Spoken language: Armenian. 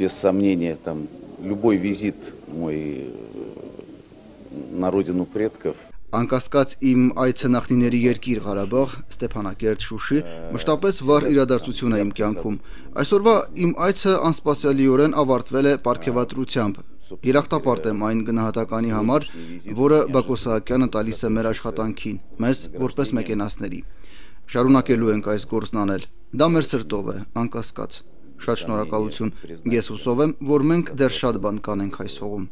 без сомнения, там любой визит мой на родину предков. Անկասկած իմ այցը նախնիների երկիր Ղարաբաղ, Ստեփանակերտ, Շուշի, մշտապես վառ իրադարձություն է իմ կյանքում։ Այսօրվա իմ այցը անսպասելիորեն ավարտվել է պարգևատրությամբ։ Երախտապարտ եմ այն գնահատականի համար, որը Բակո Սահակյանը տալիս է մեր աշխատանքին, մեզ որպես մեկենասների։ Շարունակելու ենք այս գործն անել։ Դա մեր սրտով է, անկասկած։ Շատ շնորհակալություն։ Ես հուսով եմ, որ մենք դեռ շատ բան կանենք այս հողում։